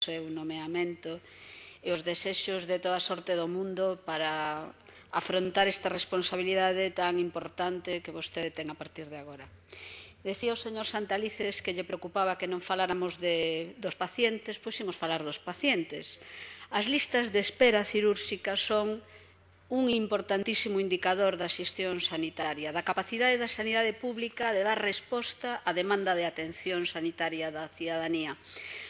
seu nomeamento e os desexos de toda a sorte do mundo para afrontar esta responsabilidade tan importante que vostede ten a partir de agora. Decía o señor Santalices que lle preocupaba que non faláramos dos pacientes, pois imos falar dos pacientes. As listas de espera cirúrxica son un importantísimo indicador da xestión sanitaria, da capacidade da sanidade pública de dar resposta á demanda de atención sanitaria da cidadanía.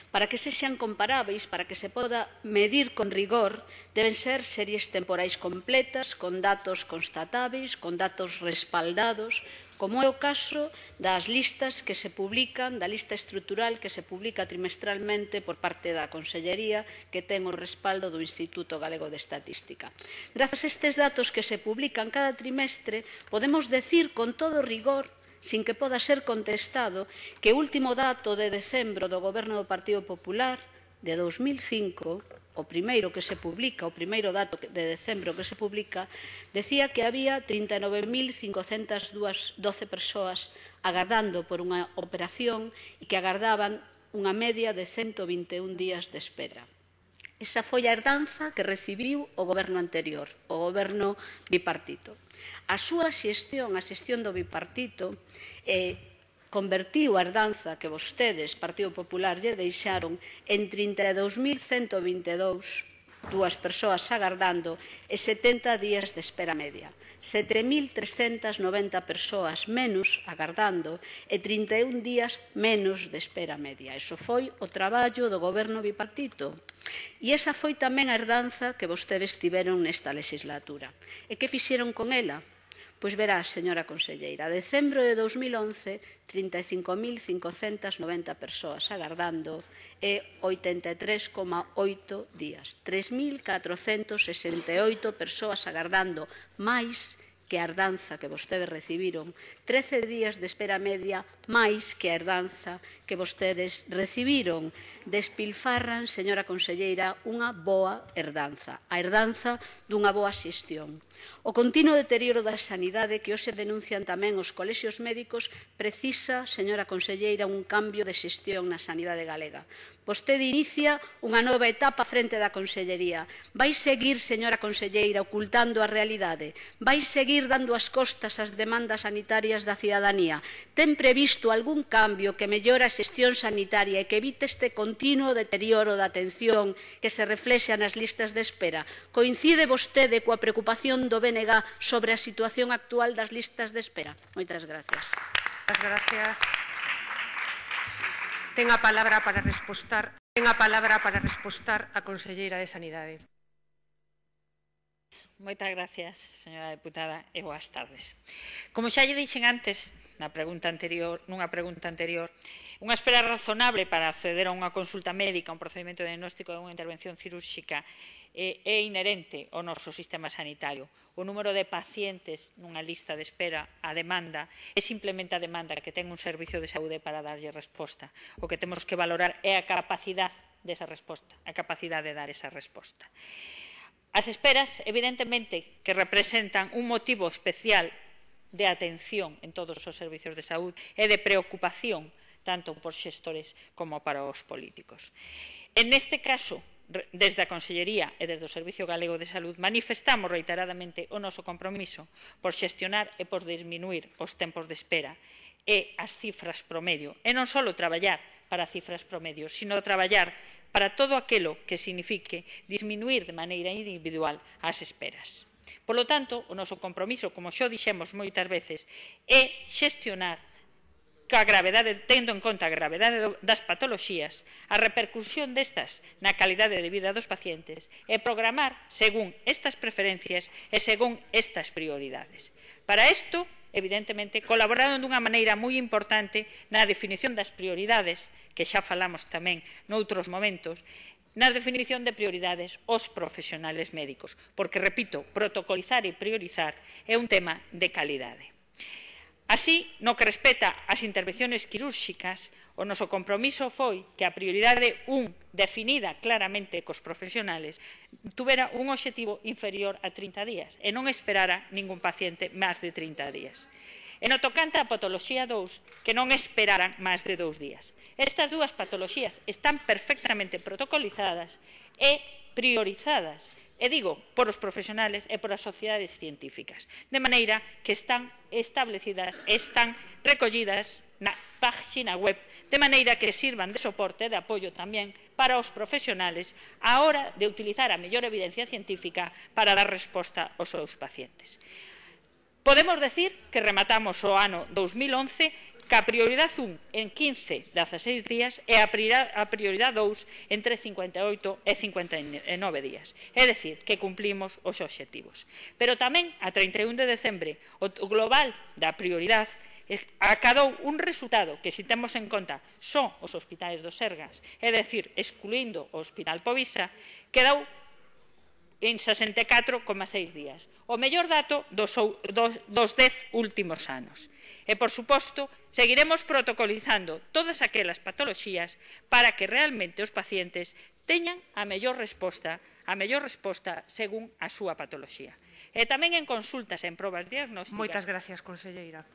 Para que sexan comparáveis, para que se poda medir con rigor, deben ser series temporais completas, con datos constatáveis, con datos respaldados, como é o caso das listas que se publican, da lista estrutural que se publica trimestralmente por parte da Consellería, que ten o respaldo do Instituto Galego de Estatística. Grazas a estes datos que se publican cada trimestre, podemos decir con todo rigor, sin que poda ser contestado, que o último dato de decembro do Goberno do Partido Popular, de 2005, o primeiro que se publica, o primeiro dato de decembro que se publica, decía que había 39.512 persoas agardando por unha operación e que agardaban unha media de 121 días de espera. Esa foi a herdanza que recibiu o goberno anterior, o goberno bipartito. A súa xestión, a xestión do bipartito, convertiu a herdanza que vostedes, Partido Popular, lle deixaron en 32.122 persoas agardando e 70 días de espera media. 7.390 persoas menos agardando e 31 días menos de espera media. Iso foi o traballo do goberno bipartito. E esa foi tamén a herdanza que vostedes tiveron nesta legislatura. E que fixeron con ela? Pois verá, señora conselleira, a decembro de 2011, 35.590 persoas agardando e 83,8 días. 3.468 persoas agardando máis que a herdanza que vostedes recibiron, 13 días de espera media máis que a herdanza que vostedes recibiron. Despilfarran, señora conselleira, unha boa herdanza, a herdanza dunha boa xestión. O continuo deterioro da sanidade que hoxe denuncian tamén os colexios médicos precisa, señora conselleira, un cambio de xestión na sanidade galega. Vostede inicia unha nova etapa frente da Consellería. Vai seguir, señora conselleira, ocultando a realidade? Vai seguir dando as costas ás demandas sanitarias da cidadanía? Ten previsto algún cambio que mellore a xestión sanitaria e que evite este continuo deterioro da atención que se reflexa nas listas de espera? Coincide vostede coa preocupación do BNG sobre a situación actual das listas de espera? Moitas gracias. Moitas gracias. Ten a palabra para respostar a conselleira de Sanidade. Moitas gracias, señora deputada, e boas tardes. Como xa lle dixen antes, nunha pregunta anterior, unha espera razonable para acceder a unha consulta médica, un procedimento de diagnóstico e unha intervención cirúrxica é inherente ao noso sistema sanitario. O número de pacientes nunha lista de espera, a demanda, é simplemente a demanda que ten un servicio de saúde para darlle resposta. O que temos que valorar é a capacidade desa resposta, a capacidade de dar esa resposta. As esperas, evidentemente, que representan un motivo especial de atención en todos os servicios de saúde e de preocupación tanto por xestores como para os políticos. En este caso, desde a Consellería e desde o Servicio Galego de Salud manifestamos reiteradamente o noso compromiso por xestionar e por disminuir os tempos de espera e as cifras promedio, e non só traballar para cifras promedio, sino traballar para todo aquilo que signifique disminuir de maneira individual as esperas. Por lo tanto, o noso compromiso, como xa dixemos moitas veces, é xestionar tendo en conta a gravedade das patoloxías, a repercusión destas na calidade de vida dos pacientes e programar según estas preferencias e según estas prioridades. Para isto, evidentemente, colaboraron dunha maneira moi importante na definición das prioridades, que xa falamos tamén noutros momentos, na definición de prioridades os profesionales médicos, porque, repito, protocolizar e priorizar é un tema de calidade. Así, no que respecta ás intervenciones quirúrxicas, o noso compromiso foi que a prioridade 1, definida claramente cos profesionales, tuvera un obxectivo inferior a 30 días e non esperara ningún paciente máis de 30 días. E no tocante á patoloxía 2, que non esperaran máis de 2 días. Estas dúas patoloxías están perfectamente protocolizadas e priorizadas, e digo, por os profesionales e por as sociedades científicas, de maneira que están establecidas, están recollidas na página web, de maneira que sirvan de soporte e de apoio tamén para os profesionales á hora de utilizar a mellor evidencia científica para dar resposta aos seus pacientes. Podemos decir que rematamos o ano 2011 que a prioridade 1 en 15, 16 días e a prioridade 2 entre 58 e 59 días. É dicir, que cumplimos os obxectivos. Pero tamén, a 31 de decembre, o global da prioridade acadou un resultado que, se temos en conta só os hospitais do Sergas, é dicir, excluindo o Hospital Povisa, quedou en 64,6 días. O mellor dato dos 10 últimos anos. E, por suposto, seguiremos protocolizando todas aquelas patoloxías para que realmente os pacientes teñan a mellor resposta según a súa patoloxía. E tamén en consultas e en probas diagnósticas. Moitas gracias, conselleira.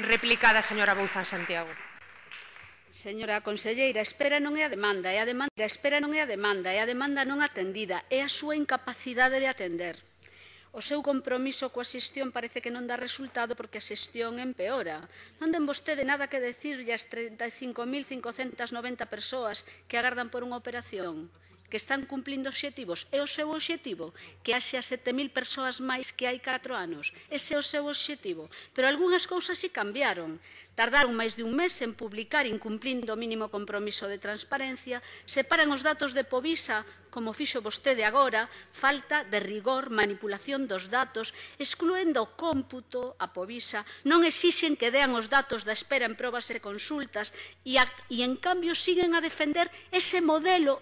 Replicada, señora Bouzán Santiago. Señora conselleira, a espera non é a demanda, a demanda non atendida, é a súa incapacidade de atender. O seu compromiso coa xestión parece que non dá resultado porque a xestión empeora. Non ten vostede nada que decirlle ás 35.590 persoas que agardan por unha operación, que están cumplindo obxectivos. É o seu obxectivo que haxe a 7.000 persoas máis que hai 4 anos. Ese é o seu obxectivo. Pero algunhas cousas si cambiaron. Tardaron máis de un mes en publicar, incumplindo o mínimo compromiso de transparencia, separan os datos de Povisa, como fixo vostede agora, falta de rigor, manipulación dos datos, excluendo o cómputo a Povisa, non exixen que dean os datos da espera en probas e consultas e en cambio siguen a defender ese modelo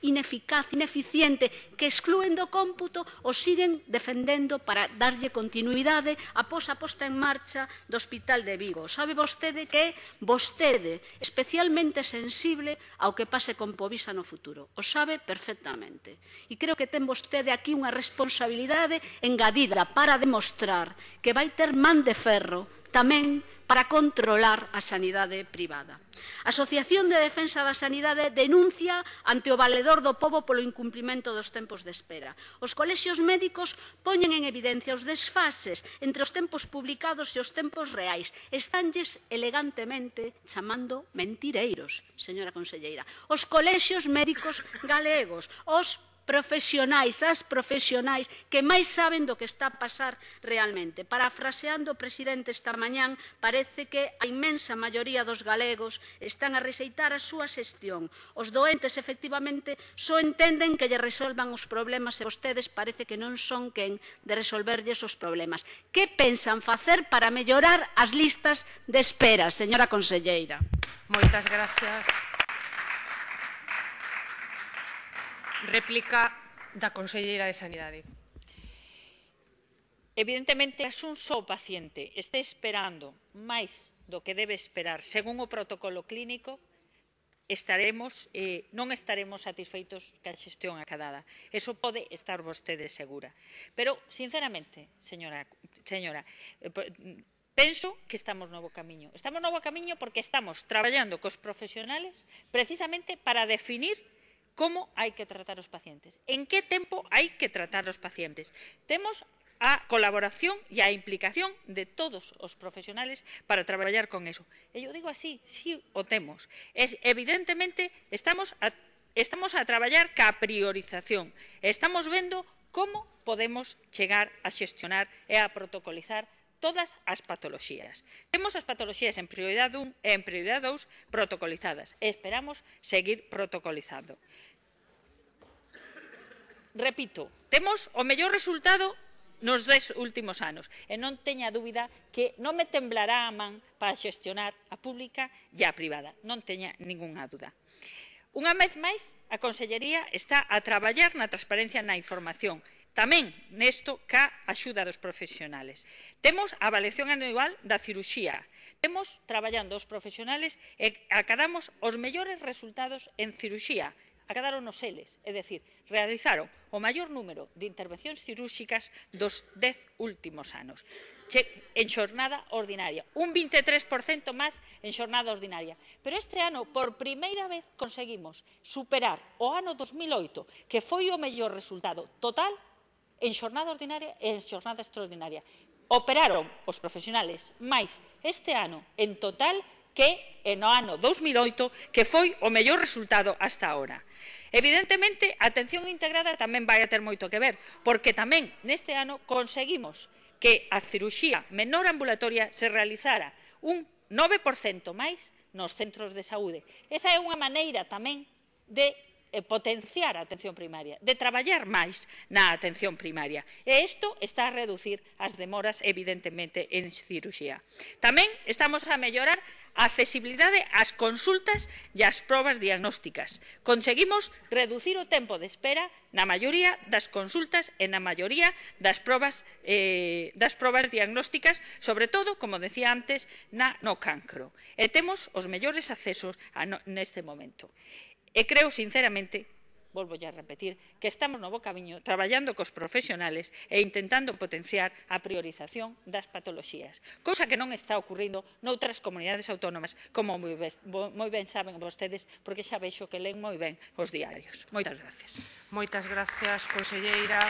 ineficaz, ineficiente, que excluen do cómputo o siguen defendendo para darlle continuidade após a posta en marcha do Hospital de Vigo. Sabe vostede que é vostede especialmente sensible ao que pase con Povisa no futuro. O sabe perfectamente. E creo que ten vostede aquí unha responsabilidade engadida para demostrar que vai ter man de ferro tamén para controlar a sanidade privada. A Asociación de Defensa da Sanidade denuncia ante o valedor do pobo polo incumprimento dos tempos de espera. Os colexios médicos poñen en evidencia os desfases entre os tempos publicados e os tempos reais. Estánlles elegantemente chamando mentireiros, señora conselleira. Os colexios médicos galegos, os profesionais, as profesionais que máis saben do que está a pasar realmente. Parafraseando o presidente esta mañán, parece que a inmensa maioría dos galegos están a rexeitar a súa xestión. Os doentes, efectivamente, só entenden que lle resolvan os problemas e vostedes parece que non son quen de resolverlles os problemas. Que pensan facer para mellorar as listas de espera, señora conselleira? Moitas gracias. Réplica da conselleira de Sanidade. Evidentemente, se un só paciente este esperando máis do que debe esperar según o protocolo clínico, non estaremos satisfeitos ca xestión acadada. Eso pode estar vostede segura. Pero, sinceramente, señora, penso que estamos no bo camiño. Estamos no bo camiño porque estamos traballando cos profesionales precisamente para definir como hai que tratar os pacientes, en que tempo hai que tratar os pacientes. Temos a colaboración e a implicación de todos os profesionales para traballar con eso. E eu digo así, sí o temos. Evidentemente, estamos a traballar ca priorización. Estamos vendo como podemos chegar a xestionar e a protocolizar todas as patoloxías. Temos as patoloxías en prioridade 1 e en prioridade 2 protocolizadas e esperamos seguir protocolizando. Repito, temos o mellor resultado nos 10 últimos anos e non teña dúbida que non me temblará a man para xestionar a pública e a privada. Non teña ningunha dúda. Unha vez máis, a Consellería está a traballar na transparencia na información, tamén nesto ca axuda dos profesionales. Temos a avaliación anual da cirurxía. Temos traballando os profesionales e acadamos os mellores resultados en cirurxía, acadaron os eles, é dicir, realizaron o maior número de intervencións cirúrxicas dos 10 últimos anos en xornada ordinaria, un 23% máis en xornada ordinaria. Pero este ano, por primeira vez, conseguimos superar o ano 2008, que foi o mellor resultado total en xornada ordinaria e en xornada extraordinaria. Operaron os profesionales máis este ano en total que no ano 2008, que foi o mellor resultado hasta agora. Evidentemente, a atención integrada tamén vai a ter moito que ver, porque tamén neste ano conseguimos que a cirurxía menor ambulatoria se realizara un 9% máis nos centros de saúde. Esa é unha maneira tamén de potenciar a atención primaria, de traballar máis na atención primaria. E isto está a reducir as demoras, evidentemente, en cirurxía. Tamén estamos a mellorar a accesibilidade ás consultas e ás probas diagnósticas. Conseguimos reducir o tempo de espera na maioría das consultas e na maioría das probas diagnósticas, sobre todo, como decía antes, no cancro. E temos os mellores accesos neste momento. E creo, sinceramente, volvo a repetir, que estamos no bo camiño traballando cos profesionales e intentando potenciar a priorización das patoloxías, cousa que non está ocurrindo noutras comunidades autónomas, como moi ben saben vostedes, porque xa vexo que len moi ben os diarios. Moitas gracias. Moitas gracias, conselleira.